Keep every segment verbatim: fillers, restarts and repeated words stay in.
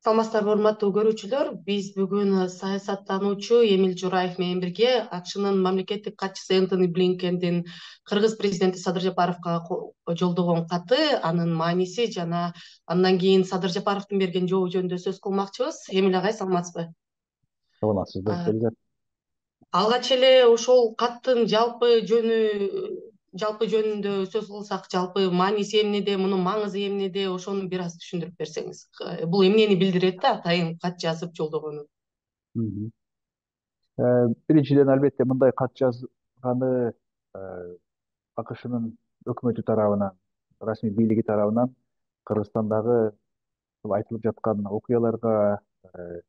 Саламатсыздарбы, урматтуу көрүүчүлөр. Биз бүгүн саясаттануучу Эмил Жураев менен бирге АКШнын мамлекеттик катчысы Энтони Блинкендин Кыргыз президенти Садыр Жапаровго жолдогон каты, анын мааниси жана андан кийин Садыр Жапаровдун берген жообу жөнүндө сөз кылмакчыбыз. Эмил агай, саламатсызбы? Саламатсызбы, Перизат. Алгач эле ошол каттын жалпы жөнү жалпы жөнүндө сөз кылсак, жалпы мааниси эмнеде, мунун маңызы эмнеде, ошону бир аз түшүндүрүп берсеңиз. Бул эмнени билдирет да, атайын кат жазып жолдогону? Мгм. Э, Биринчиден, албетте, мындай кат жазганы АКШнын өкмөтү тарабынан, расмий бийлиги тарабынан Кыргызстандагы бул айтылып жаткан окуяларга, э,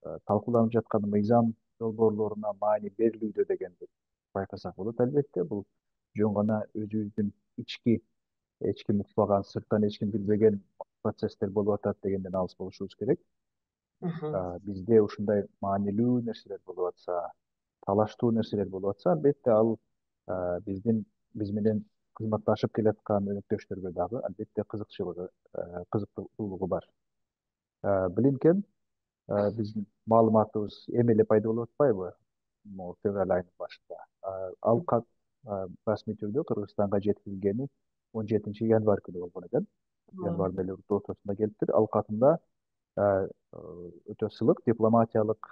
э, талкууланып жаткан мыйзам долбоорлоруна маани берилүүдө дегенди байкасак болот. Албетте, бул жөн гана өзүбүздүн ички, эч ким укпаган, сырттан эч ким билбеген процесстер болуп атат дегенден алыс болушубуз керек. Мхм. Бизде ушундай маанилүү нерселер болуп атса, талаштуу нерселер болуп атса, албетте ал биздин биз менен кызматташып келаткан өнөктөштөргө дагы албетте кызыкчылыгы, кызыктуулугу бар. Блинкен, биздин маалыматыбыз эми эле пайда болуп атпайбы? Могу февраль айынын башында. Ал кат расмий түрдө Кыргызстанга жеткирилгени он жетинчи январь күнү болгон экен. Январдын эле ортосунда келиптир. Ал катында өтө сылык дипломатиялык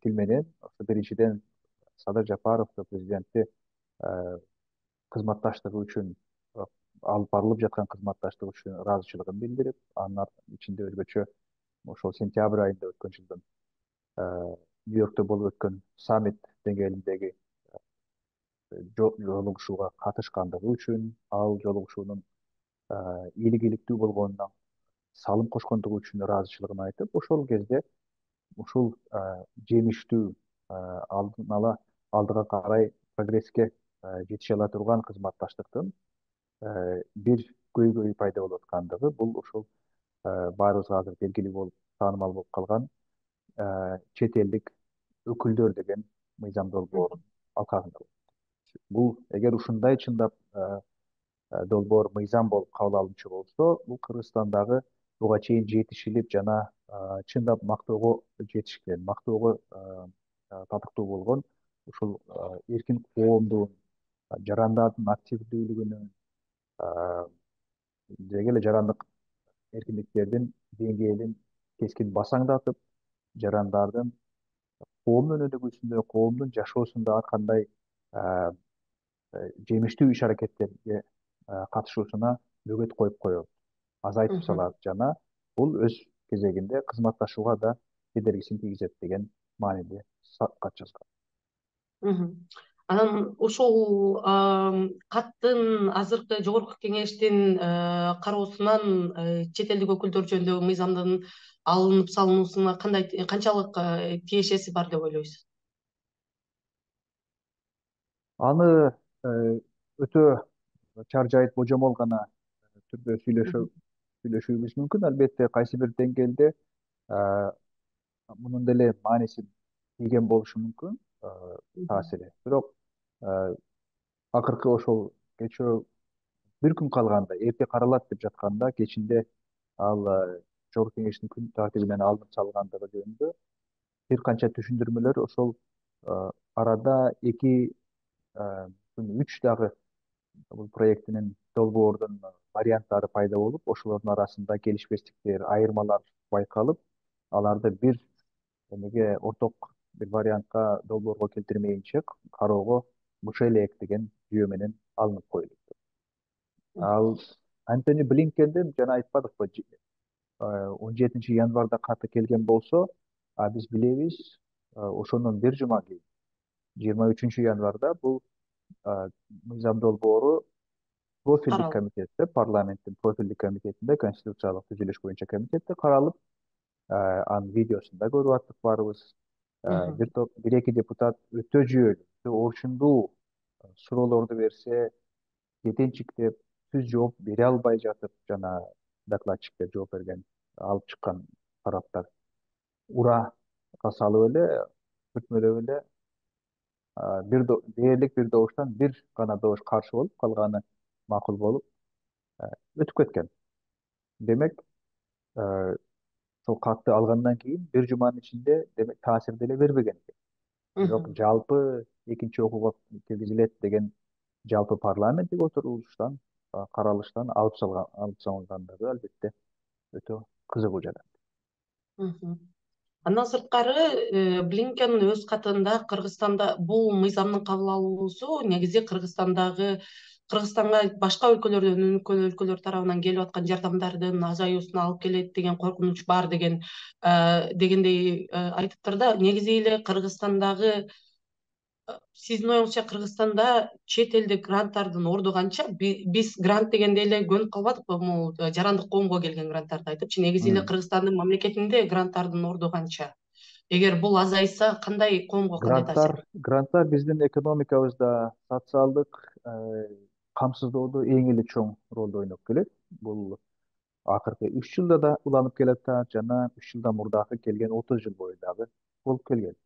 тил менен биринчиден Садыр Жапаровду президентти кызматташтыгы үчүн, алып барылып жаткан кызматташтык үчүн ыраазычылыгын билдирип, анын ичинде өзгөчө ошол сентябрь айында өткөн жылдын Нью-Йоркто болуп өткөн саммит деңгээлиндеги жолугушууга катышкандыгы үчүн, ал жолугушуунун ийгиликтүү болгонуна салым кошкондугу үчүн ыраазычылыгын айтып, ошол кезде ушул жемиштүү, алдын ала алдыга карай прогресске жетише ала турган кызматташтыктын бир көйгөйү пайда болуп аткандыгы, бул ушул баарыбызга азыр белгилүү болуп, таанымал болуп калган чет элдик өкүлдөр деген мыйзам долбоорунун алкагында. Бул эгер ушундай чындап долбоор мыйзам болуп кабыл алынчу болсо, бул Кыргызстандагы буга чейин жетишилип жана чындап мактоого жетишкен, мактоого татыктуу болгон ушул эркин коомдун, жарандардын активдүүлүгүнүн, деги эле жарандык эркиндиктердин деңгээлин кескин басаңдатып, жарандардын коом өнүгүүсүндө, коомдун жашоосунда ар кандай жемиштүү иш-аракеттерге катышуусуна бөгөт коюп коет, азайтып салат жана бул өз кезегинде кызматташууга да кедергисин тийгизет деген мааниде кат жазган. Анан ушул каттын азыркы жогорку кеңештин кароосунан чет элдик өкүлдөр жөнүндөгү мыйзамдын алынып салынуусуна кандай, канчалык тиешеси бар деп ойлойсуз? Аны өтө чар жайыт божомол гана түрдө сүйлөшүүбүз мүмкүн. Албетте, кайсы бир деңгээлде мунун деле мааниси тийген болушу мүмкүн, таасири. Бирок акыркы ошол кечөө бир күн калганда, эрте каралат деп жатканда, кечинде ал жогорку кеңештин күн тартибинен алынып салгандыгы жөнүндө бир канча түшүндүрмөлөр ошол арада эки, үч дагы бул проектинин долбоордун варианттары пайда болуп, ошолордун арасында келишпестиктер, айырмалар байкалып, аларды бир эмеге орток бир вариантка, долбоорго келтирмейинче кароого мыша элек деген жүйө менен алынып коюлуптур. Ал Антони Блинкендин жана айтпадыкпы, он жетинчи январда каты келген болсо, а биз билебиз, ошондон бир жума кийин, жыйырма үчүнчү январда бул мыйзам долбоору профилдик комитетте, парламенттин профилдик комитетинде, конституциялык түзүлүш боюнча комитетте каралып, анын видеосун да көрүп аттык баарыбыз. Бир топ, бир эки депутат өтө жүйөлүү, өтө орчундуу суроолорду берсе, кетенчиктеп, түз жооп бере албай жатып, жана докладчиктер жооп берген, алып чыккан тараптар урага салып эле, бүкмөлөп эле, бир дээрлик бир добуштан бир гана добуш каршы болуп, калганы макул болуп өтүп кеткен. Демек, сол катты алгандан кийин бир жуманын ичинде демек таасир деле бербеген экен. Бирок Мгм. жалпы экинчи окууга киргизилет деген жалпы парламенттик отурулуштан, каралыштан алып салган алып салынгандыгы албетте өтө кызыгуу жана. Мгм. Андан сырткары Блинкен өз катында Кыргызстанда бул мыйзамдын кабыл алынуусу негизи Кыргызстандагы Кыргызстанга башка өлкөлөрдөн өнүккөн өлкөлөр тарабынан келип аткан жардамдардын азаюусуна алып келет деген коркунуч бар деген дегендей айтыптыр да. Негизи эле Кыргызстандагы сиздин оюңузча Кыргызстанда чет элдик гранттардын орду канча? Биз грант дегенде эле көнүп калбадыкпы могу жарандык коомго келген гранттарды айтыпчы. Негизи эле Кыргызстандын мамлекетинде гранттардын орду канча? Эгер бул азайса, кандай коомго кандай Гранттар, таасир? гранттар биздин экономикабызда социалдык камсыздоодо эң эле чоң ролду ойноп келет. Бул акыркы үч жылда да уланып келатат жана үч жылдан мурдагы келген отуз жыл бою дагы болуп келген.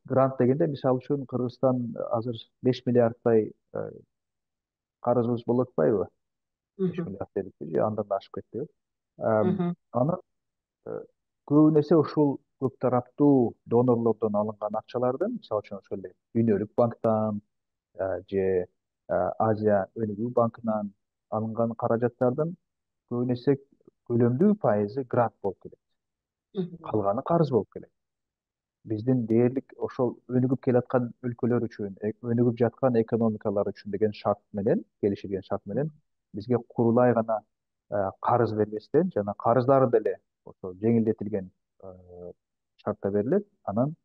Грант дегенде мисалы үчүн Кыргызстан азыр беш миллиардтай карызыбыз болуп атпайбы? беш Мгм. миллиард дедикпи же андан да ашып кетти. Мгм. Анын көбүн эсе ушул көп тараптуу донорлордон алынган акчалардын, мисалы үчүн ошол эле дүйнөлүк банктан же Азия өнүгүү банкынан алынган каражаттардын көбүн эсе көлөмдүү пайызы грант болуп келет. Мгм. Калганы карыз болуп келет. Биздин дээрлик ошол өнүгүп келаткан өлкөлөр үчүн, өнүгүп жаткан экономикалар үчүн деген шарт менен, келишилген шарт менен бизге курулай гана карыз бербестен жана карыздары деле ошо жеңилдетилген шартта берилет. Анан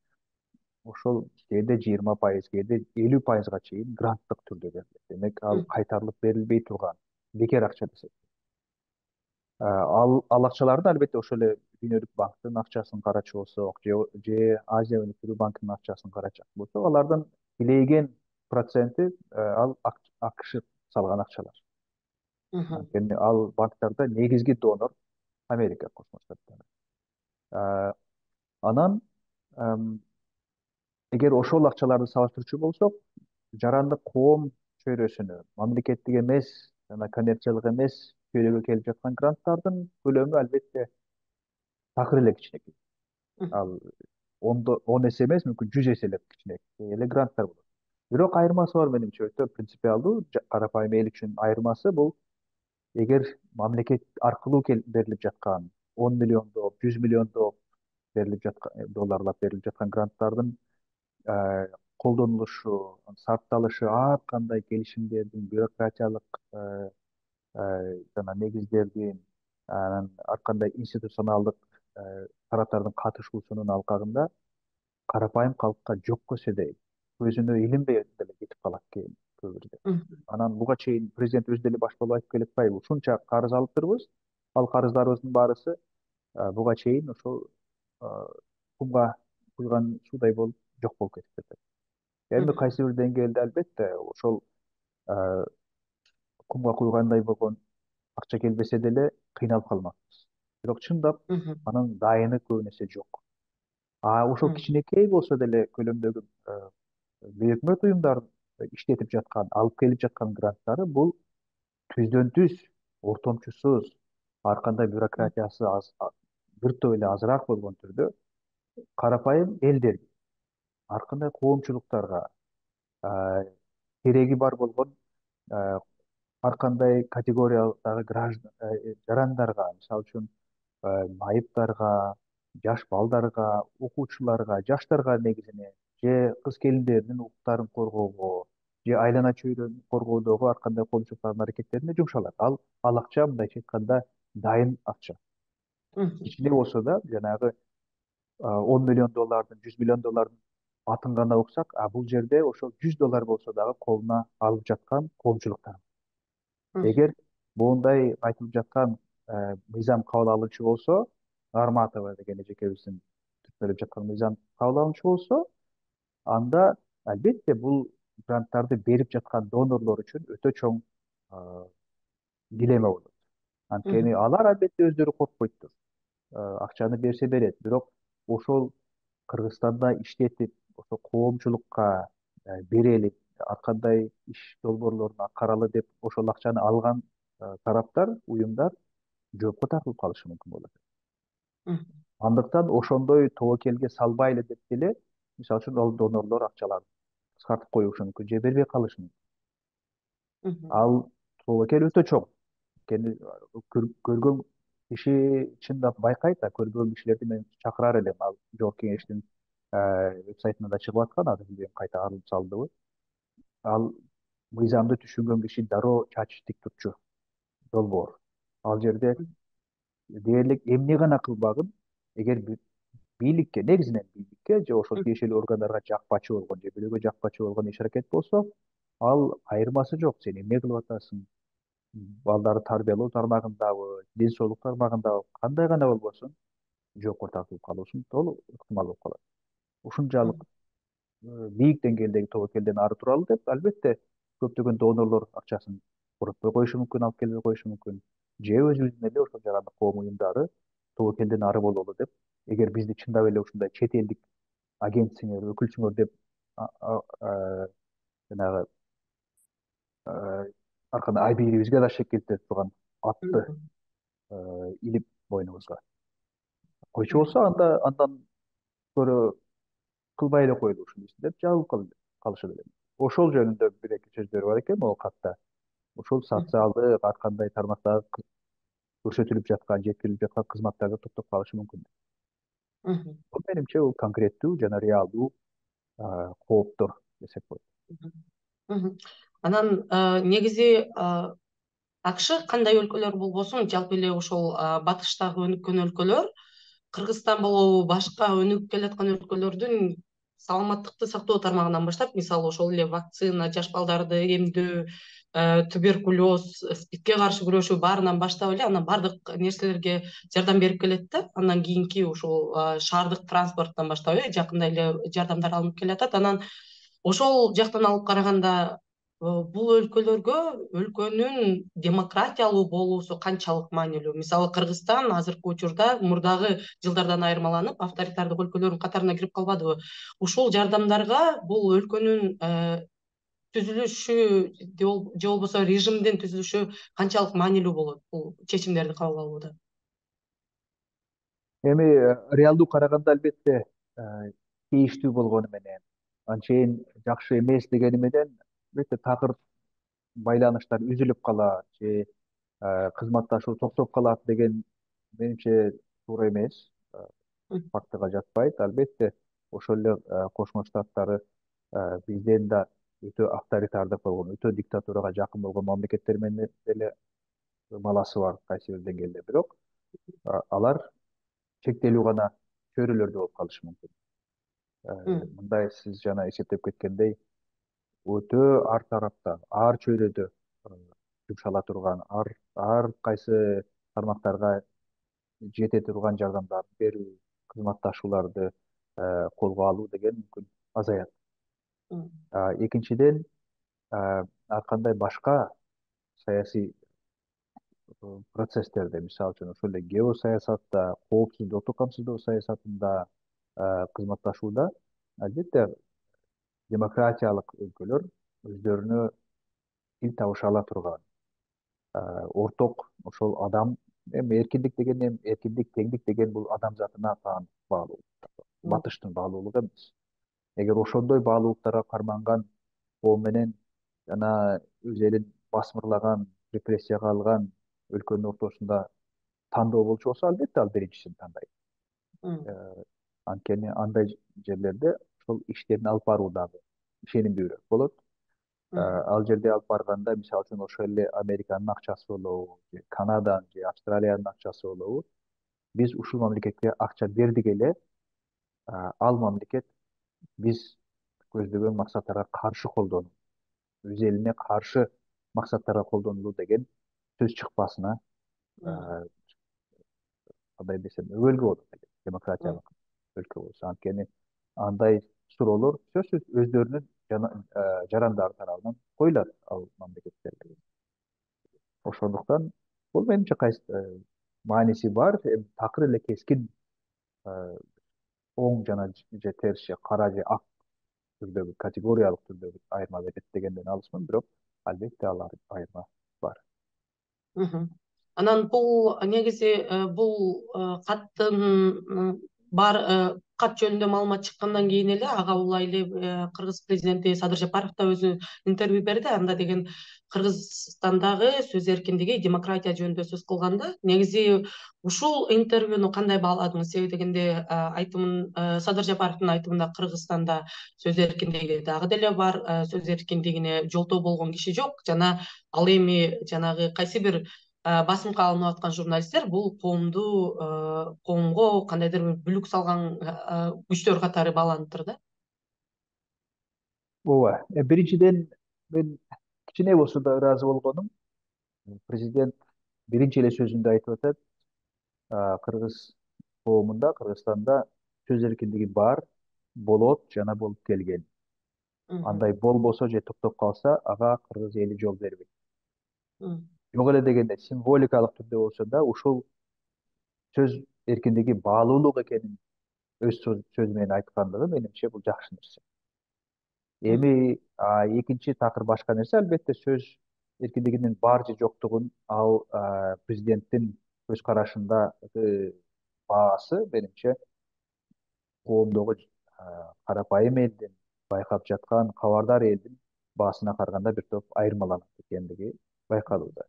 ошол кээде жыйырма пайыз, кээде элүү пайызга чейин гранттык түрдө берилет. Демек ал Мгм. кайтарылып берилбей турган бекер акча десек. Ал ал акчаларды албетте ошол эле дүйнөлүк банктын акчасын карачу болсок, же же Азия өнүктүрүү банкынын акчасын карачак болсок, алардын тилейген проценти ал АКШ салган акчалар. Мгм. Анткени ал банктарда негизги донор Америка Кошмо Штаттары. Анан эгер ошол акчаларды салыштырчу болсок, жарандык коом чөйрөсүнө мамлекеттик эмес жана коммерциялык эмес чөйрөгө келип жаткан гранттардын көлөмү албетте такыр эле кичинекей. Мгм. Ал ондо он эсе эмес, мүмкүн жүз эселеп кичинекей эле гранттар болот. Бирок айырмасы бар менимче, өтө принципиалдуу, карапайым эл үчүн айырмасы бул эгер мамлекет аркылуу берилип жаткан он миллиондоп, жүз миллиондоп берилип жаткан долларлап берилип жаткан гранттардын колдонулушу, сарпталышы ар кандай келишимдердин бюрократиялык жана негиздердин, анан ар кандай институционалдык тараптардын катышуусунун алкагында карапайым калкка жок көрсөдөй өзүнө илинбей деле кетип калат кийин көп бирде. Мгм. Анан буга чейин президент өзү деле баш болуп айтып келе атпайбы? Ушунча карыз алыптырбыз, ал карыздарыбыздын баарысы буга чейин ошол кумга куйган суудай болуп жок болуп кетип жатат. Эми Мгм. кайсы бир деңгээлде албетте ошол кумга куйгандай болгон акча келбесе деле кыйналып калмакпыз. Бирок чындап Мгм. анын дайыны көбүн эсе жок. А ошол Мгм. кичинекей болсо деле көлөмдөгү бейөкмөт уюмдар иштетип жаткан, алып келип жаткан гранттары бул түздөн түз, ортомчусуз, ар кандай бюрократиясы аз, бир топ эле азыраак болгон түрдө карапайым элдерге, ар кандай коомчулуктарга, кереги бар болгон ар кандай категориядагы граждан жарандарга, мисалы үчүн майыптарга, жаш балдарга, окуучуларга, жаштарга негизинен же кыз келиндердин укуктарын коргоого же айлана чөйрөнү коргоодогу ар кандай коомчулуктардын аракеттерине жумшалат. Ал ал акча мындайча айтканда дайын акча. Мгм. Кичине болсо да жанагы он миллион доллардын, жүз миллион доллардын атын гана уксак, а бул жерде ошол жүз доллар болсо дагы колуна алып жаткан коомчулуктар. Мгм. Эгер моундай айтылып жаткан мыйзам кабыл алынчу болсо, Нарматова деген эжекебиздин түшүндүрүп жаткан мыйзам кабыл алынчу болсо, анда албетте бул гранттарды берип жаткан донорлор үчүн өтө чоң дилемма болот. Анткени Мгм. алар албетте өздөрү коркпойт. Акчаны берсе берет, бирок ошол Кыргызстанда иштетип, ошо коомчулукка берели, ар кандай иш долбоорлорун аткаралы деп ошол акчаны алган тараптар, уюмдар жоопко тартылып калышы мүмкүн болот. Мгм. Андыктан ошондой тобокелге салбайлы деп деле, мисалы үчүн ал донорлор акчаларды кыскартып коюшу мүмкүн же бербей калышы мүмкүн. Мгм. Ал тобокел өтө чоң. Анткени көргөн киши чындап байкайт, а көрбөгөн кишилерди мен чакырар элем. Ал Жогорку Кеңештин вебсайтында да чыгып аткан, азыр билбейм кайта алынып салдыбы. Ал мыйзамды түшүнгөн киши дароо чачы тик турчу, долбоор. Ал жерде дээрлик эмне гана кылбагын, эгер бийликке, негизинен бийликке же ошол тиешелүү органдарга жакпачы болгон же бирөөгө жакпачы болгон иш аракет болсо, ал айырмасы жок. Сен эмне кылып атасың? Балдарды тарбиялоо тармагындабы, ден соолук тармагындабы, кандай гана болбосун, жоопко тартылып калуусуң толук ыктымал болуп калат. Ушунчалык бийик деңгээлдеги тобокелден ары туралы деп, албетте, көптөгөн донорлор акчасын коротпой коюшу мүмкүн, алып келбей коюшу мүмкүн. Же өзүбүздүн эле ошол жарандык коом уюмдары тобокелден ары бололу деп, эгер бизди чындап эле ушундай чет элдик агентсиңер, өкүлсүңөр деп жанагы аркандай айбийибизге да шек келтире турган атты илип бойнубузга койчу болсо, анда андан көрө кылбай эле коелу ушул ишти деп жабылып калышат элем. Ошол жөнүндө бир эки сөздөр бар экен могу катта. Ошол социалдык ар кандай тармактагы көрсөтүлүп жаткан, жеткирилип жаткан кызматтарда токтоп калышы мүмкүн. Мгм. Бул менимче бул конкреттүү жана реалдуу кооптор десек болот. Мгм. Анан негизи АКШ кандай өлкөлөр болбосун, жалпы эле ошол батыштагы өнүккөн өлкөлөр, Кыргызстан болобу, башка өнүгүп келаткан өлкөлөрдүн саламаттыкты сактоо тармагынан баштап, мисалы ошол эле вакцина, жаш балдарды эмдөө, туберкулез, СПИДке каршы күрөшүү баарынан баштап эле анан баардык нерселерге жардам берип келет да. Андан кийинки ушул шаардык транспорттон баштап э жакында эле жардамдар алынып келатат. Анан ошол жактан алып караганда бул өлкөлөргө өлкөнүн демократиялуу болуусу канчалык маанилүү? Мисалы Кыргызстан азыркы учурда мурдагы жылдардан айырмаланып авторитардык өлкөлөрдүн катарына кирип калбадыбы? Ушул жардамдарга бул өлкөнүн түзүлүшү же болбосо режимдин түзүлүшү канчалык маанилүү болот бул чечимдерди кабыл алууда? Эми реалдуу караганда албетте тийиштүү болгону менен, анчейин жакшы эмес дегени менен, албетте такыр байланыштар үзүлүп калат же кызматташуу токтоп калат деген менимче туура эмес, фактыга жатпайт. Албетте ошол эле Кошмо Штаттары бизден да өтө авторитардык болгон, өтө диктатурага жакын болгон мамлекеттер менен деле маласы бар кайсы бир деңгээлде. Бирок алар чектелүү гана чөйрөлөрдө болуп калышы мүмкүн. Мындай сиз жана эсептеп кеткендей, өтө ар тарапта, ар чөйрөдө жумшала турган, ар ар кайсы тармактарга жете турган жардамдарды берүү, кызматташууларды колго алуу деген мүмкүн азаят. Экинчиден, ар кандай башка саясий процесстерде, мисалы үчүн ошол эле геосаясатта, коопсуздук, оттук камсыздоо саясатында, кызматташууда, албетте демократиялык өлкөлөр өздөрүнө тил табыша ала турган, орток ошол адам, эми эркиндик деген эми эркиндик, теңдик деген бул адам затына баалуу, батыштын баалуулугу эмес. Эгер ошондой баалуулуктарга карманган коом менен жана өз элин басмырлаган, репрессияга алган өлкөнүн ортосунда тандоо болчу болсо, албетте ал биринчисин тандайт. Анткени андай жерлерде ошол иштерин алып баруу дагы ишенимдүүрөөк болот. Ал жерде алып барганда, мисалы үчүн ошол эле Американын акчасы болобу, же Канаданын же Австралиянын акчасы болобу, биз ушул мамлекетке акча бердик эле, ал мамлекет биз көздөгөн максаттарга каршы колдонуу, өз элине каршы максаттарга колдонулу деген сөз чыкпасына кандай десем өбөлгө болот демократиялык өлкө болсо. Анткени андай суроолор сөзсүз өздөрүнүн жарандары тарабынан коюлат ал мамлекеттерге. Ошондуктан бул менимче мааниси бар, эми такыр эле кескин оң жана же терс же кара же ак түрдөгү, категориялык түрдөгү айырма берет дегенден алысмын, бирок албетте ал айырма бар. Анан бул негизи бул каттын бар кат жөнүндө маалымат чыккандан кийин эле ага улай эле Кыргыз президенти Садыр Жапаров да өзү интервью берди. Анда деген Кыргызстандагы сөз эркиндиги, демократия жөнүндө сөз кылганда негизи ушул интервьюну кандай бааладыңыз? Себеби дегенде айтымын Садыр Жапаровдун айтымында Кыргызстанда сөз эркиндиги дагы деле бар, сөз эркиндигине жолтоо болгон киши жок жана ал эми жанагы кайсы бир басымга алынып аткан журналисттер бул коомду коомго кандайдыр бир бүлүк салган күчтөр катары бааланыптыр да. ооба, биринчиден мен кичине болсо да ыраазы болгонум. Президент биринчи эле сөзүндө айтып атат, кыргыз коомунда, Кыргызстанда сөз эркиндиги бар, болот жана болуп келген. Андай болбосо же токтоп калса, ага кыргыз эли жол бербейт. Жок эле дегенде символикалык түрдө болсо да ушул сөз эркиндиги баалуулук экенин өз сөзү менен айткандыгы менимче бул жакшы нерсе. Эми экинчи такыр башка нерсе, албетте сөз эркиндигинин бар же жоктугун ал президенттин көз карашындагы баасы менимче коомдогу карапайым элдин, байкап жаткан кабардар элдин баасына караганда бир топ айырмаланат экендиги байкалууда.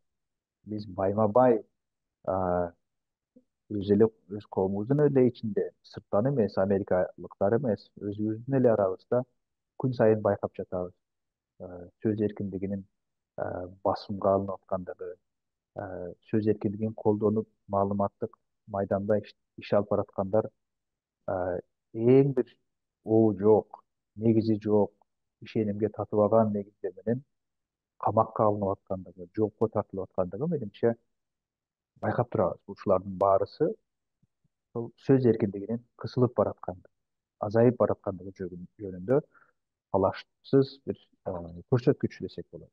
Биз байма бай өз эле өз коомубуздун эле ичинде, сырттан эмес, америкалыктар эмес, өзүбүздүн эле арабызда күн сайын байкап жатабыз. Сөз эркиндигинин басымга алынып аткандыгы, сөз эркиндигин колдонуп маалыматтык майданда иш алып бараткандар эң бир оо жок, негизи жок, ишенимге татыбаган негиздер менен камакка алынып аткандыгы, жоопко тартылып аткандыгы менимче байкап турабыз. Ушулардын баарысы ошол сөз эркиндигинин кысылып бараткандыгы, азайып бараткандыгы жөнүндө талашсыз бир көрсөткүч десек болот.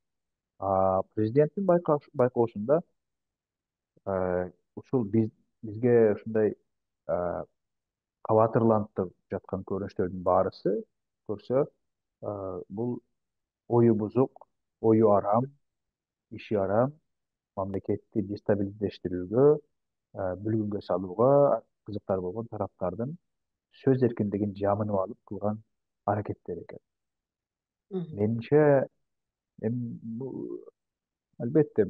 Президенттин байкоосунда ушул бизге ушундай кабатырлантып жаткан көрүнүштөрдүн баарысы көрсө, бул ою бузук, ою арам, иши арам, мамлекетти дестабилиздештирүүгө, бүлгүнгө салууга кызыктар болгон тараптардын сөз эркиндигин жамынып алып кылган аракеттери экен. Менимче эми албетте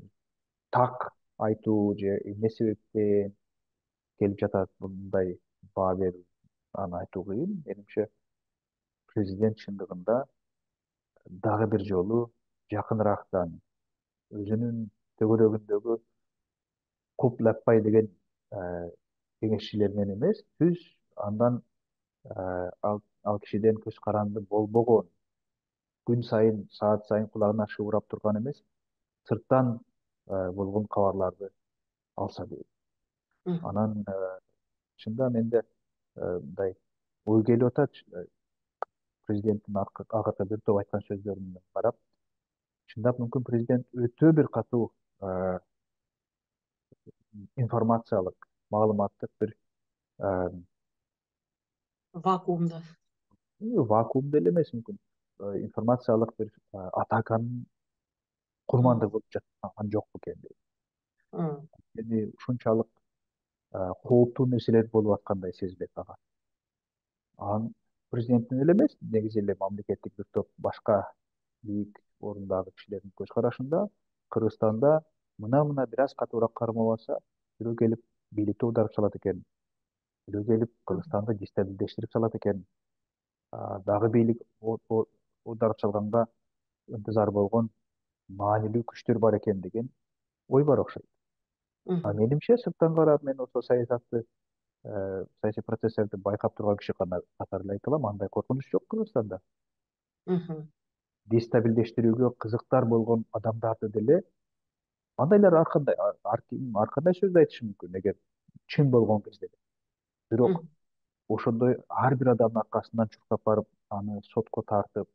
так айтуу же эмне себептен келип жатат мындай баа берүү, аны айтуу кыйын. Менимче президент чындыгында дагы бир жолу жакыныраактан өзүнүн төгөрөгүндөгү Куп Лаппай деген кеңешчилеринен эмес, түз андан ал кишиден көз каранды болбогон, күн сайын, саат сайын кулагына шыбырап турган эмес, сырттан болгон кабарларды алса дейт. Анан чында менде мындай ой келип атат, президенттин акыркы бир топ айткан сөздөрүнө карап, чындап мүмкүн президент өтө бир катуу информациялык, маалыматтык бир вакуумда. Вакуумда эле эмес, мүмкүн информациялык бир атаканын курмандыгы болуп жаткан жокпу экен дейт. Эми ушунчалык кооптуу нерселер болуп аткандай сезилет ага. Анан президенттин эле эмес, негизи эле мамлекеттик бир топ башка бийик орундагы кишилердин көз карашында Кыргызстанда мына-мына бир аз катуураак кармабаса, бирөө келип бийликти оодарып салат экен, бирөө келип Кыргызстанды дестабилиздештирип салат экен, дагы бийлик оодарып салганга ынтызар болгон маанилүү күчтөр бар экен деген ой бар окшойт. А менимче сырттан карап мен ошол саясатты, саясий процесстерди байкап турган киши катары эле айта алам, андай коркунуч жок Кыргызстанда. Дестабилиздештирүүгө кызыктар болгон адамдарды деле андайлар ар кандай ар кандай сөздү айтышы мүмкүн эгер чын болгон кезде. Бирок ошондой ар бир адамдын аркасынан чуркап барып, аны сотко тартып,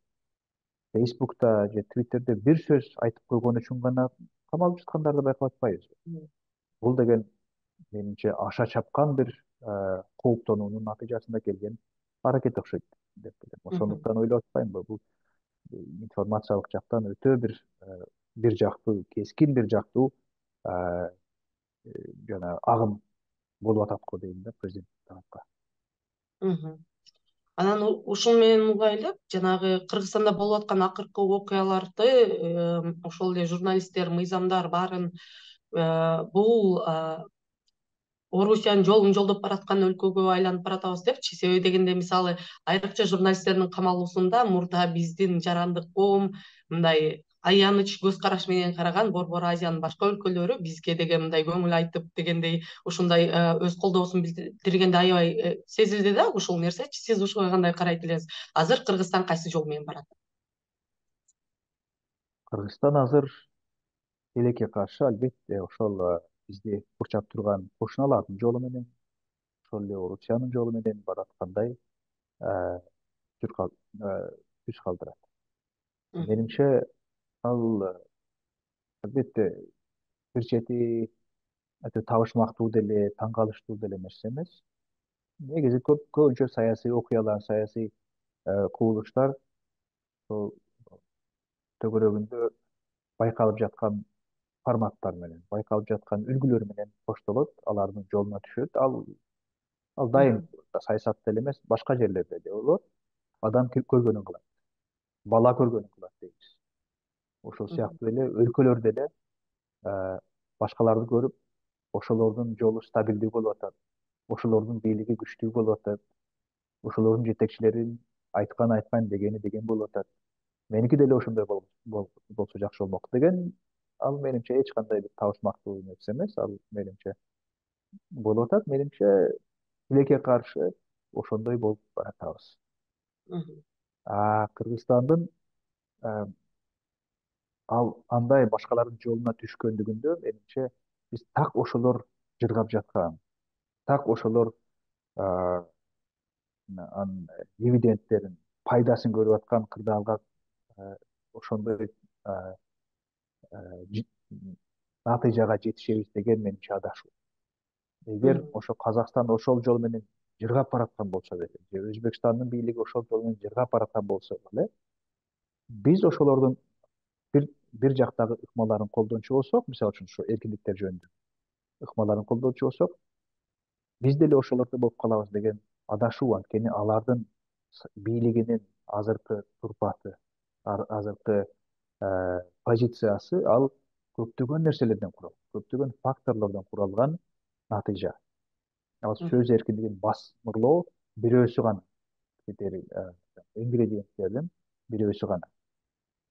Фейсбукта же Твиттерде бир сөз айтып койгон үчүн гана камалып жаткандарды байкап атпайбызбы? Бул деген менимче аша чапкан бир кооптонуунун натыйжасында келген аракет окшойт деп билем. Ошондуктан ойлоп атпаймынбы, бул информациялык жактан өтө бир бир жактуу, кескин бир жактуу жана агым болуп атат го дейм да президент тарапка. Анан ушун менен угайлап, жанагы Кыргызстанда болуп аткан акыркы окуяларды ошол эле журналисттер, мыйзамдар баарын бул Орусиянын жолун жолдоп бараткан өлкөгө айланып баратабыз депчи. Себеби дегенде мисалы айрыкча журналисттердин камалуусунда мурда биздин жарандык коом мындай аяныч көз караш менен караган Борбор Азиянын башка өлкөлөрү бизге деген мындай көңүл айтып дегендей ушундай өз колдоосун билдиргенде аябай сезилди да ушул нерсечи. Сиз ушуга кандай карайт элеңиз? Азыр Кыргызстан кайсы жол менен барат? Кыргызстан азыр тилекке каршы албетте ошол бизди курчап турган кошуналардын жолу менен, ошол эле Орусиянын жолу менен бараткандай түз калтырат. Менимче ал албетте бир чети өтө табышмактуу деле, таң калыштуу деле нерсе эмес. Негизи көп көбүнчө саясий окуялар, саясий кубулуштар ошол төгөрөгүндө байкалып жаткан форматтар менен, байкалып жаткан үлгүлөр менен коштолот, алардын жолуна түшөт. Ал ал дайым саясатта эле эмес, башка жерлерде да болот. Адам көргөнүн кылат, бала көргөнүн кылат дейбиз. Ошол сыяктуу эле өлкөлөрдө эле башкаларды көрүп, ошолордун жолу стабилдүү болуп атат, ошолордун бийлиги күчтүү болуп атат, ошолордун жетекчилерин айткан айткан, дегени деген болуп атат. Меники деле ошондой болсо жакшы болмок деген, ал менимче эч кандай бир табышмактуу нерсе эмес. Ал менимче болуп атат. Менимче тилекке каршы ошондой болуп баратабыз. А Кыргызстандын ал андай башкалардын жолуна түшкөндүгүндө менимче биз так ошолор жыргап жаткан, так ошолор анын дивидендтерин, пайдасын көрүп аткан кырдаалга ошондой натыйжага жетишебиз деген менимче адашуу. Эгер ошо Казакстан ошол жол менен жыргап бараткан болсо деле, же Өзбекстандын бийлиги ошол жол менен жыргап бараткан болсо деле, биз ошолордун бир бир жактагы ыкмаларын колдончу болсок, мисалы үчүн ошо эркиндиктер жөнүндө ыкмаларын колдончу болсок, биз деле ошолордой болуп калабыз деген адашуу. Анткени алардын бийлигинин азыркы турпаты, азыркы позициясы ал көптөгөн нерселерден куралат, көптөгөн факторлордон куралган натыйжа. Ал сөз эркиндигин басмырлоо бирөөсү гана, ингредиенттердин бирөөсү гана.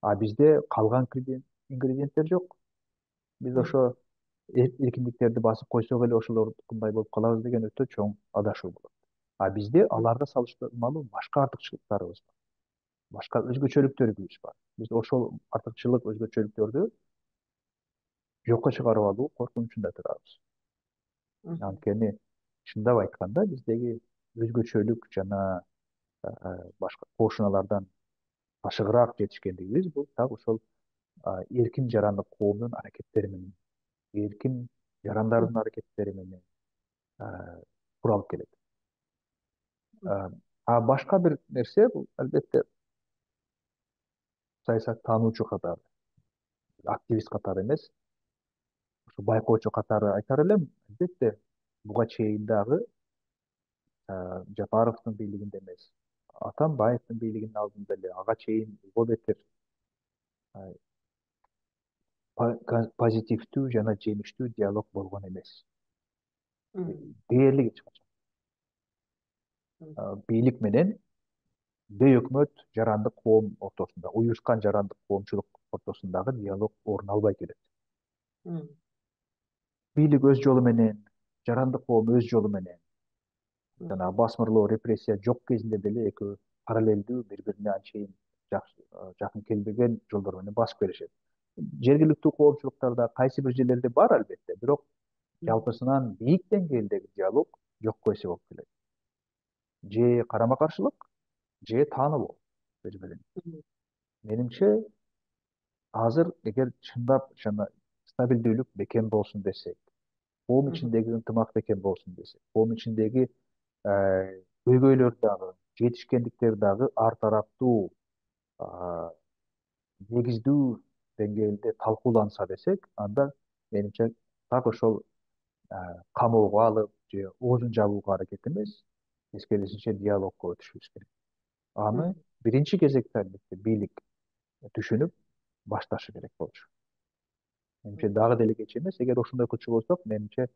А бизде калган ингредиенттер жок. Биз ошо эркиндиктерди басып койсок эле ошолордукундай болуп калабыз деген өтө чоң адашуу болот. А бизде аларга салыштырмалуу башка артыкчылыктарыбыз бар, башка өзгөчөлүктөрүбүз бар. Биз ошол артыкчылык, өзгөчөлүктөрдү жокко чыгарып алуу коркунучунда турабыз. Анткени чындап айтканда биздеги өзгөчөлүк жана башка кошуналардан ташыгыраак жетишкендигибиз бул так ошол эркин жарандык коомдун аракеттери менен, эркин жарандардын аракеттери менен куралып келет. А башка бир нерсе бул албетте саясаттануучу катары, активист катары эмес, ошо байкоочу катары айтар элем, албетте буга чейин дагы Жапаровдун бийлигинде эмес, Атамбаевдин бийлигинин алдында эле ага чейин го бетер позитивдүү жана жемиштүү диалог болгон эмес. Дээрлик эч качан. Бийлик менен бейөкмөт жарандык коом ортосунда, уюшкан жарандык коомчулук ортосундагы диалог орун албай келет. Бийлик өз жолу менен, жарандык коом өз жолу менен, жана басмырлоо, репрессия жок кезинде деле экөө параллелдүү, бири-бирине анчейин жакын келбеген жолдор менен басып келишет. Жергиликтүү коомчулуктарда кайсы бир жерлерде бар албетте, бирок жалпысынан бийик деңгээлдеги диалог жокко эсе болуп келет. Же карама каршылык, же таанылуу бири-бирине. Менимче азыр эгер чындап жана стабилдүүлүк бекем болсун десек, коом ичиндеги ынтымак бекем болсун десек, коом ичиндеги көйгөйлөр дагы, жетишкендиктер дагы ар тараптуу, негиздүү деңгээлде талкууланса десек, анда менимче так ошол камоого алып же оозун жабууга аракет эмес, тескерисинче диалогко өтүшүбүз керек. Аны биринчи кезекте албетте бийлик түшүнүп башташы керек болчу. Менимче дагы деле кеч эмес. Эгер ошондой кылчу болсок, менимче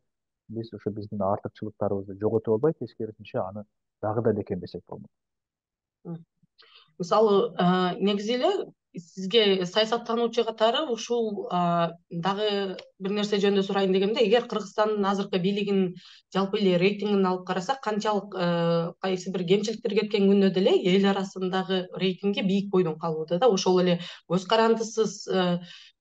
биз ошо биздин артыкчылыктарыбызды жоготуп албай, тескерисинче аны дагы да бекемдесек болмок. Мисалы, негизи эле сизге саясаттануучу катары ушул дагы бир нерсе жөнүндө сурайын дегемде, эгер Кыргызстандын азыркы бийлигинин жалпы эле рейтингин алып карасак, канчалык кайсы бир кемчиликтер кеткен күндө деле эл арасындагы рейтинги бийик бойдон калууда да. Ошол эле көз карандысыз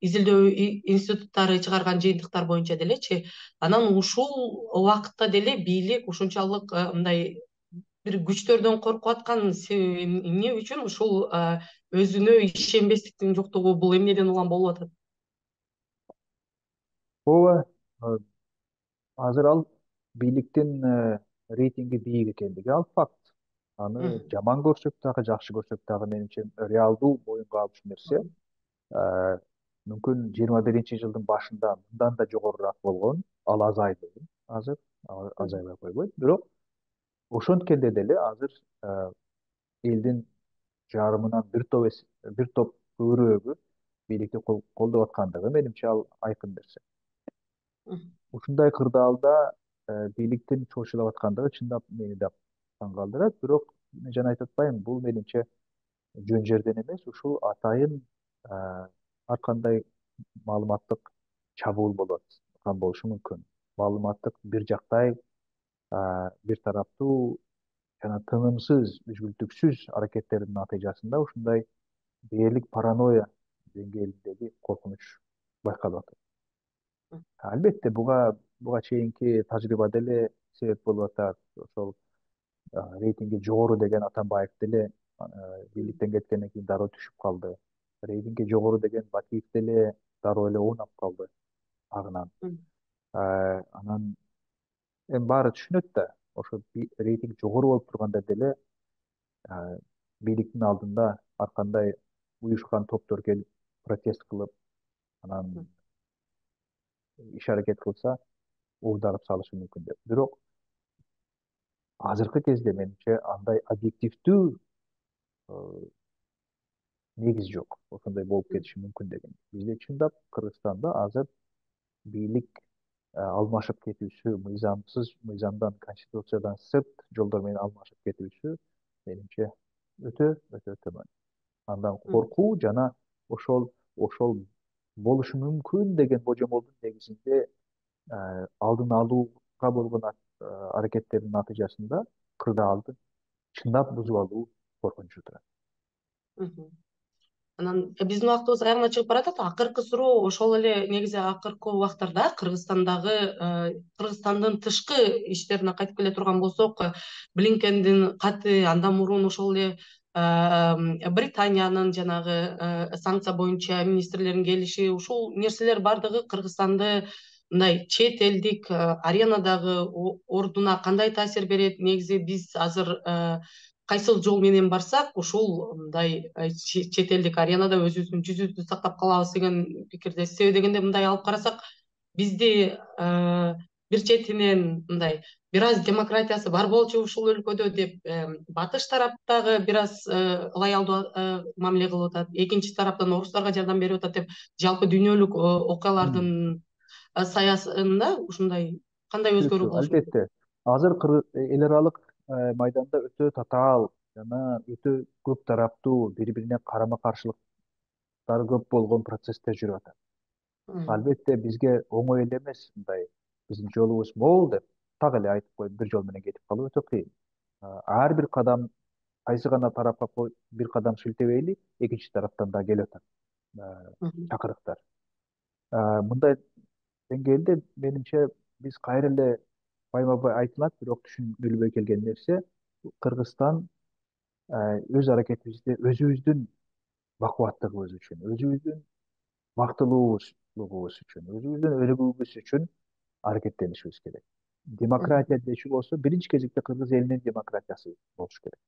изилдөө институттары чыгарган жыйынтыктар боюнча делечи. Анан ушул убакытта деле бийлик ушунчалык мындай бир күчтөрдөн коркуп аткан себеби эмне үчүн? Ушул өзүнө ишенбестиктин жоктугу бул эмнеден улам болуп атат? Ооба, азыр ал бийликтин рейтинги бийик экендиги ал факт. Аны жаман көрсөк дагы, жакшы көрсөк дагы, менимче реалдуу моюнга алчу нерсе. Мүмкүн жыйырма биринчи жылдын башында мындан да жогорураак болгон, ал азайды азыр, азайбай койбойт. Бирок ошонткенде деле азыр элдин жарымынан бир топ бир топ көбүрөөгү бийликти колдоп аткандыгы менимче ал айкын нерсе. Ушундай кырдаалда бийликтин чоочулап аткандыгы чындап мени да таң калтырат. Бирок мен жана айтып атпаймынбы, бул менимче жөн жерден эмес, ушул атайын ар кандай маалыматтык чабуул болуп аткан болушу мүмкүн. Маалыматтык бир жактай, бир тараптуу жана тынымсыз, үзгүлтүксүз аракеттердин натыйжасында ушундай дээрлик паранойя деңгээлиндеги коркунуч байкалып атат. Албетте буга буга чейинки тажрыйба деле себеп болуп атат. Ошол рейтинги жогору деген Атамбаев деле бийликтен кеткенден кийин дароо түшүп калды. Рейтинги жогору деген Бакиев деле дароо эле оонап калды агынан. Анан эми баары түшүнөт да, ошо рейтинг жогору болуп турганда деле бийликтин алдында ар кандай уюшкан топтор келип протест кылып, анан иш аракет кылса, уурдарып салышы мүмкүн деп. Бирок азыркы кезде менимче андай объективдүү негиз жок. Ошондой болуп кетиши мүмкүн деген. Бизде чындап Кыргызстанда азыр бийлик алмашып кетүүсү, мыйзамсыз, мыйзамдан, конституциядан сырт жолдор менен алмашып кетүүсү менимче өтө өтө төмөн. Андан коркуу жана ошол ошол болушу мүмкүн деген божомолдун негизинде алдын алууга болгон аракеттердин натыйжасында кырдаалды чындап бузуп алуу коркунучу турат. Анан биздин убактыбыз аягына чыгып баратат. Акыркы суроо ошол эле негизи акыркы убактарда Кыргызстандагы Кыргызстандын тышкы иштерине кайтып келе турган болсок, Блинкендин каты, андан мурун ошол эле Британиянын жанагы санкция боюнча министрлердин келиши, ушул нерселер бардыгы Кыргызстанды мындай чет элдик аренадагы ордуна кандай таасир берет? Негизи биз азыр кайсыл жол менен барсак, ушул мындай чет элдик аренада өзүбүздүн жүзүбүздү сактап калабыз деген пикирдесиз. Себеби дегенде мындай алып карасак, бизди бир четинен мындай бир аз демократиясы бар болчу ушул өлкөдө деп батыш тараптагы бир аз лоялдуу мамиле кылып атат. Экинчи тараптан орустарга жардам берип атат деп жалпы дүйнөлүк окуялардын саясында ушундай кандай өзгөрүү болушу мүмкүн? Албетте, азыр эл аралык майданда өтө татаал жана өтө көп тараптуу, бири бирине карама каршылыктары көп болгон процесстер жүрүп атат. Албетте бизге оңой эле эмес, мындай биздин жолубуз могул деп так эле айтып коюп бир жол менен кетип калуу өтө кыйын. Ар бир кадам, кайсы гана тарапка бир кадам шилтебейли, экинчи тараптан да келип атат чакырыктар. Мындай деңгээлде менимче биз кайра эле байма бай айтылат, бирок түшүнүлбөй келген нерсе, Кыргызстан өз аракетибизди өзүбүздүн бакубаттыгыбыз үчүн, өзүбүздүн бактылуулугубуз үчүн, өзүбүздүн өнүгүүбүз үчүн аракеттенишибиз керек. Демократия дечү болсо, биринчи кезекте кыргыз элинин демократиясы болуш керек.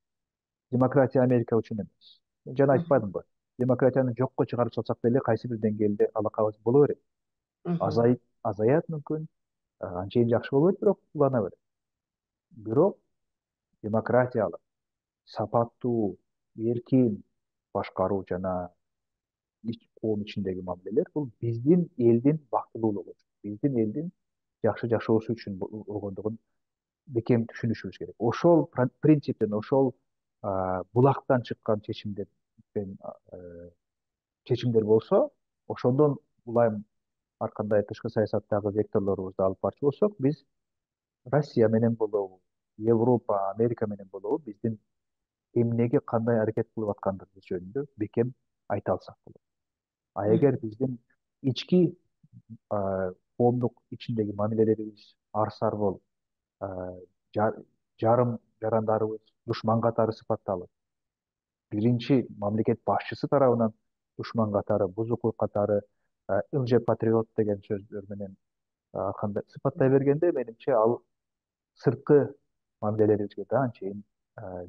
Демократия Америка үчүн эмес. Мен жана айтпадымбы? Демократияны жокко чыгарып салсак деле кайсы бир деңгээлде алакабыз боло берет. Азайып, азаят мүмкүн, анчейин жакшы болбойт, бирок улана берет. Бирок демократиялык, сапаттуу, эркин башкаруу жана коом ичиндеги мамилелер бул биздин элдин бактылуулугу үчүн, биздин элдин жакшы жашоосу үчүн болгондугун бекем түшүнүшүбүз керек. Ошол принциптен, ошол булактан чыккан чечимдер чечимдер болсо, ошондон улам ар кандай тышкы саясаттагы векторлорубузду алып барчу болсок, биз Россия менен болобу, Европа, Америка менен болобу, биздин эмнеге кандай аракет кылып аткандыгыбыз жөнүндө бекем айта алсак болот. А эгер биздин ички коомдук ичиндеги мамилелерибиз арсар болуп, жарым жарандарыбыз душман катары сыпатталып, биринчи мамлекет башчысы тарабынан душман катары, бузукул катары, лжепатриот деген сөздөр менен кандай сыпаттай бергенде, менимче ал сырткы мамилелерибизге да анчейин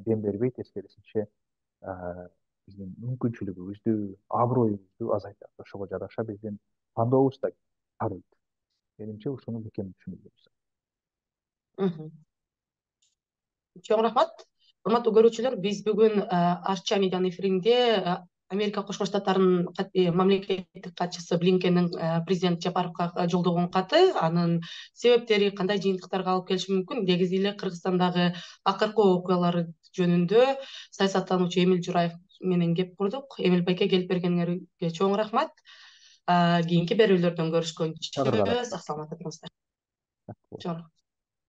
дем бербей, тескерисинче биздин мүмкүнчүлүгүбүздү, аброюбузду азайтат. Ошого жараша биздин тандообуз да тарыйт. Менимче ушуну бекем түшүнүш керек. Чоң рахмат. Урматтуу көрүүчүлөр, биз бүгүн Арча медианын эфиринде Америка Кошмо Штаттарынын мамлекеттик катчысы Блинкендин президент Жапаровго жолдогон каты, анын себептери кандай жыйынтыктарга алып келиши мүмкүн, негизи эле Кыргызстандагы акыркы окуялар жөнүндө саясаттануучу Эмил Жураев менен кеп курдук. Эмил байке, келип бергениңерге чоң рахмат. Кийинки берүүлөрдөн көрүшкөнчө сак саламатта туруңуздар.